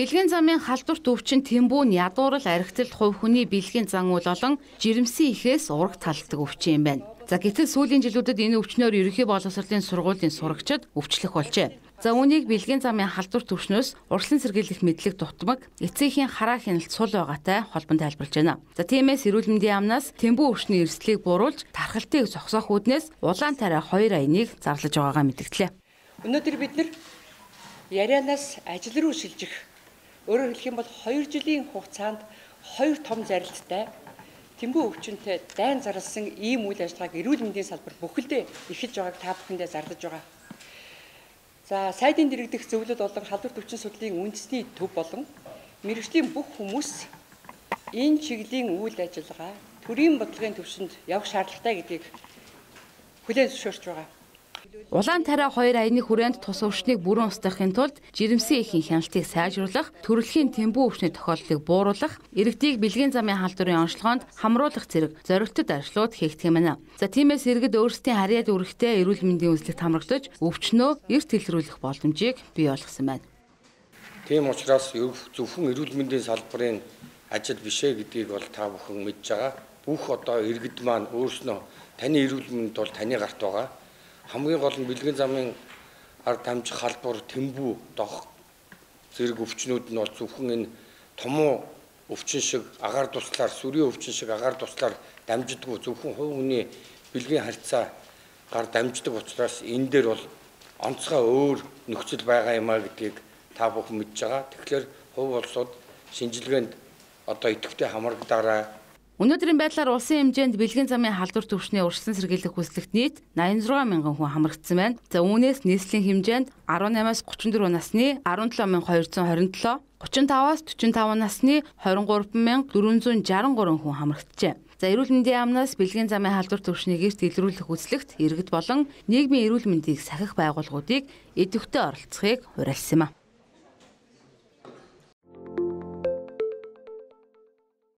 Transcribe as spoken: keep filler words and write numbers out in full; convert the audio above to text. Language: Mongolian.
Бэлгийн замын халдварт өвчин Тэмбүү нь ядуурл архитэлт хувь хүний бэлгийн зан үйл болон жирэмсэн ихээс ураг талдаг өвчин юм байна. За гэтэл сүүлийн жилүүдэд энэ өвчнөөр ерөнхий боловсролын сургуулийн сурагчид өвчлөх болжээ. За үүнийг бэлгийн замын халдварт өвчнөөс урьдчилан сэргийлэх мэдлэг дутмаг эцсийн хараа хяналт сул байгаатай холбон тайлбарлаж байна. За тиймээс эрүүл мэндийн яамнаас Тэмбүү өвчний эрсдлийг бууруулж тархалтыг зогсоох үүднээс улаан тариа хоёр аяныг зарлаж байгаагаа мэдгдлээ. Өнөөдөр бид нар ярианаас ажил руу шилжих, өөрөөр хэлэх юм бол хоёр жилийн хугацаанд хоёр том зарилттай Тэмбүү өвчнөд дайн зарласан ийм үйл ажиллагааг эрүүл мэндийн салбар бүхэлдээ эхэлж байгааг та бүхэндээ зарлаж байгаа. За сайдын дэргэдэх зөвлөд болон халдварт өвчин судлалын үндэсний төв болон мэргэжлийн бүх хүмүүс энэ чиглэлийн үйл ажиллагаа төрийн бодлогын төвшөнд явах шаардлагатай гэдгийг хүлээн зөвшөөрч байгаа. Улаан тариа хоёр аяны хүрээнд тус өвчнийг бүрэн устгахын тулд жирэмсэн эхийн хяналтыг сайжруулах, төрөлхийн Тэмбүү өвчний тохиолдлыг бууруулах, иргэдийг бэлгийн замын халдварын онцлогоонд хамруулах зэрэг зорилттой ажлууд хийгдэх юм байна. За тиймээс иргэд өөрсдийн харьяад үүрэгтэй эрүүл мэндийн үзлэгт хамрагдаж өвчнөө эрт илрүүлэх боломжийг бий болгосон байна. Тийм учраас зөвхөн эрүүл мэндийн салбарын ажил бишээ гэдгийг бол та бүхэн мэдж байгаа. Бүх одоо иргэд маань өөрснөө таны эрүүл мэнд бол таны гарт байгаа. Хамгийн гол нь бэлгийн замын ард дамжих халдвар, Тэмбүү дох зэрэг өвчнүүд нь бол зөвхөн энэ томуу өвчин шиг агаар туслаар, сүрийн өвчин шиг агаар туслаар дамждаггүй, зөвхөн хувь хүний бэлгийн харьцаа гар дамждаг учраас энэ дээр бол онцгой өөр нөхцөл байгаа юм а гэдгийг та бүхэн мэдж байгаа. Тэгэхээр хувь улсууд шинжилгээнд одоо идэвхтэй хамрагдаарай. Өнөөдрийн байдлаар улсын хэмжээнд бэлгийн замын халдварт өвчний урьдчилан сэргийлэх хүслэгт нийт найман зургаан мянган хүн хамрагдсан байна. За үүнээс нийслэлийн хэмжээнд арван наймаас гучин дөрвөн насны арван долоо мянга хоёр зуун хорин долоо, гучин таваас төрийн таван насны хорин гурав мянга дөрвөн зуун шестдесет гурван хүн хамрагджээ. За эрүүл мэндийн яамнаас бэлгийн замын халдварт өвчнийг эрт илрүүлэх үзлэгт иргэд болон нийгмийн эрүүл мэндийг сахих байгууллагуудыг идэвхтэй оролцохыг уриалсан юм а.